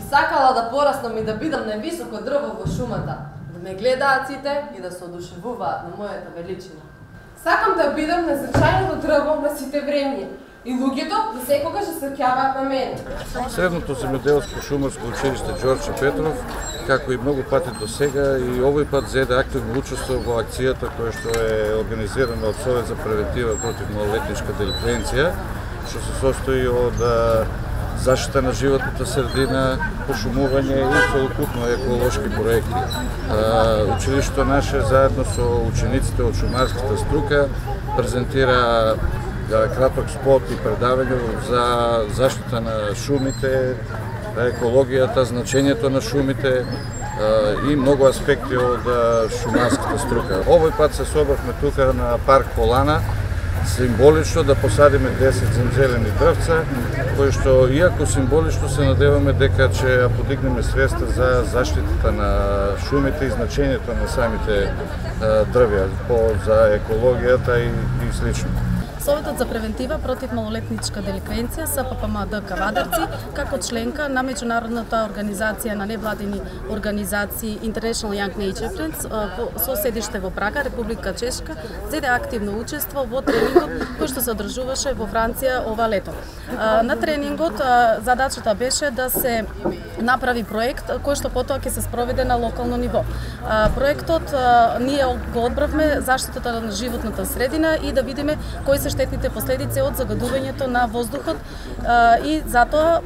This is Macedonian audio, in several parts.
сакала да пораснам и да бидам највисоко дрво во шумата, да ме гледаат сите и да се одушевуваат на мојата величина. Сакам да бидам најзначајното дрво на сите времиња и луѓето да секогаш се сеќаваат на мене. Средното земјоделско шумарско училиште Ѓорче Петров, како и многу пати до сега, и овој пат зеде активно учество во акцијата која што е организирана од Совет за превентива против малолетничка деликвенција, што се состои од заштита на животната средина, пошумување и целокупно еколошки проекти. Училиштето наше заедно со учениците од шумарската струка презентира краток спот и предавање за заштита на шумите, екологијата, значењето на шумите и многу аспекти од шумарската струка. Овој пат се собравме тука на парк Полана, символично да посадиме 10 земзелени дрвца, кои што, иако символично, се надеваме дека ќе подигнеме свеста за заштитата на шумите и значењето на самите дрвја за екологијата и слично. Советот за превентива против малолетничка деликвенција СППМД Кавадарци, како членка на меѓународната организација на невладини организации International Young Nature Friends со седиште во Прага, Република Чешка, зеде активно учество во тренингот кој што се одржуваше во Франција ова лето. На тренингот задачата беше да се направи проект кој што потоа ќе се спроведе на локално ниво. Проектот ние го одбравме заштитата на животната средина и да видиме кои се штетните последици од загадувањето на воздухот и затоа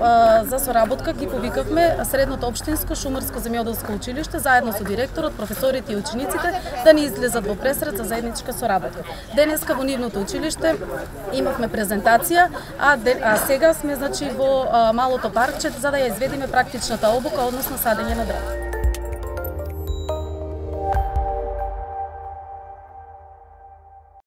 за соработка ги повикавме Средното општинско шумарско земјоделско училиште заедно со директорот, професорите и учениците да ни излезат во пресрет за заедничка соработка. Денеска во нивното училиште имавме презентација, а сега сме во малото паркче за да ја изведиме практичната обука, односно садење на дрва.